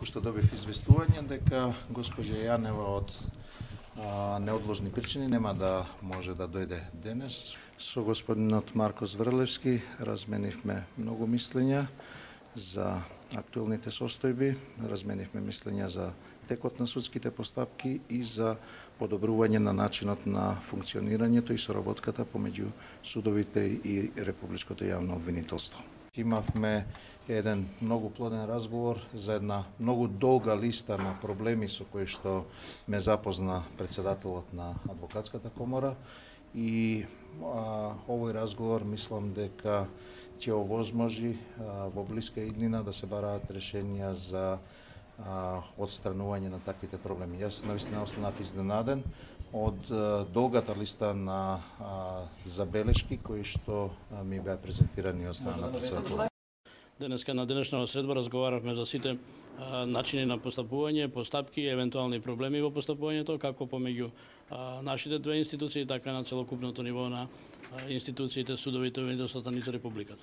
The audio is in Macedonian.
Току што добив известување дека госпоѓа Јанева од неодложни причини нема да може да дојде денес. Со господинот Марко Зврлевски разменивме многу мислења за актуелните состојби, разменивме мислења за текот на судските постапки и за подобрување на начинот на функционирањето и соработката помеѓу судовите и Републичкото јавно обвинителство. Имавме еден многу плоден разговор за една многу долга листа на проблеми со кои што ме запозна председателот на Адвокатската комора и овој разговор мислам дека ќе овозможи во блиска иднина да се бараат решенија за отстранување на таквите проблеми. Јас навистина останав изненаден од долгата листа на забелешки кои што ми беа презентирани од страна на председателот. Денеска на денешната средба разговаравме за сите начини на постапување, постапки и евентуални проблеми во постапувањето, како помеѓу нашите две институции, така на целокупното ниво на институциите, судовите, обвинителствата низ Републиката.